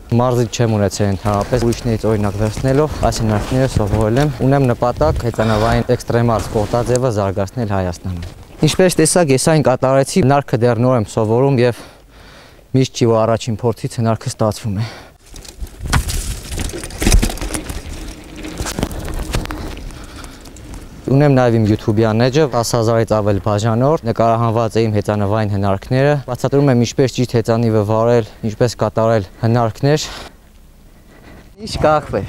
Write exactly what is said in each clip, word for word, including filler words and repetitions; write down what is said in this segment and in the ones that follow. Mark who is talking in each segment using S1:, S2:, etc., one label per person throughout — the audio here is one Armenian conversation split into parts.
S1: Մարզիչ չեմ ունեցել ընդհանրապես, ուրիշներից օրինակ վերցնելով այս հնարքները սովորել եմ, ունեմ նպատակ հեծանավային էքստրեմալ սպորտաձևը զարգացնել Հայաստանում։ Ինչպես տեսակ, ես այն կատարեցի, հնարքը դեռ նոր եմ սովորում եւ միշտ չի որ առաջին փորձից հնարքը ստացվում է։ Ունեմ նաև իմ YouTube-յան էջը, տասը հազարից ավել բաժանորդ, նկարահանված է իմ հեծանվային հնարքները, բացատրում եմ ինչպես ճիշտ հեծանիվը վարել, ինչպես կատարել հնարքներ։ Ինչ կախվել։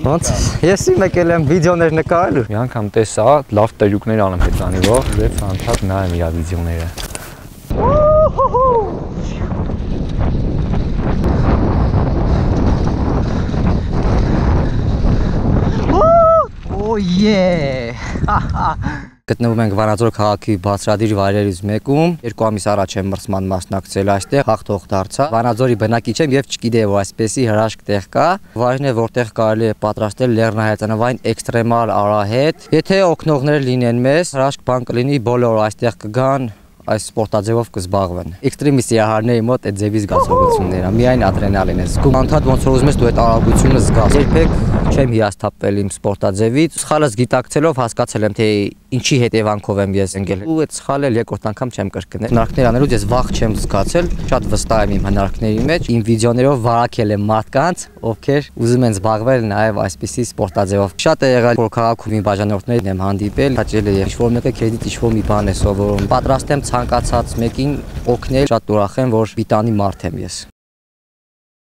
S1: Ոնց ես եկել եմ վիդեոներ նկարելու։
S2: Մի անգամ տեսա, լավ տերյուկներ անեմ հեծանիվով, եւ անդադ նայեմ իր վիդեոները։
S1: Գտնվում ենք Վանաձոր քաղաքի բարձրադիր վայրերից մեկում, երկու ամիս առաջ եմ մրցման մասնակցել այստեղ, հաղթող դարձա։ Վանաձորի բնակիչ եմ եւ չգիտեի որ այսպեսի հրաշք տեղ կա։ Վայրն է որտեղ կարելի է պատրաստել լեռնահայացանավային էքստրեմալ արահետ։ Եթե օգնողներ լինեն մեզ, հրաշք բան կլինի, բոլորը այստեղ կգան, այս սպորտաձևով կզբաղվեն։ Էքստրեմի սիրահարների մոտ այդ ձևի զգացողությունները, միայն ադրենալին է զգում։ Անդադ ոնց որ ուզում ես դու այդ արագությունը զգաս։ Երբեք չեմ հիասթափվել իմ սպորտաձևից, սխալս գիտակցելով հասկացել եմ թե ինչի հետևանքով եմ ես ընկել։ Ու այդ սխալը երկրորդ անգամ չեմ կրկնել։ Հնարքներ անելուց ես վախ չեմ զգացել, շատ վստահ եմ իմ հնարքների մեջ։ Իմ վիդեոներով վարակել եմ մարդկանց, ովքեր ուզում են զբաղվել նաև այսպիսի սպորտաձևով։ Շատ է եղել որ քաղաքում իմ բաժանորդներին եմ հանդիպել, հաճել է ինչ-որ մեկը քեզից ինչ-որ մի բան է սովորում։ Պատրաստ եմ ցանկացած մեկին օգնել, շատ ուրախ եմ որ պիտանի մարդ եմ ես։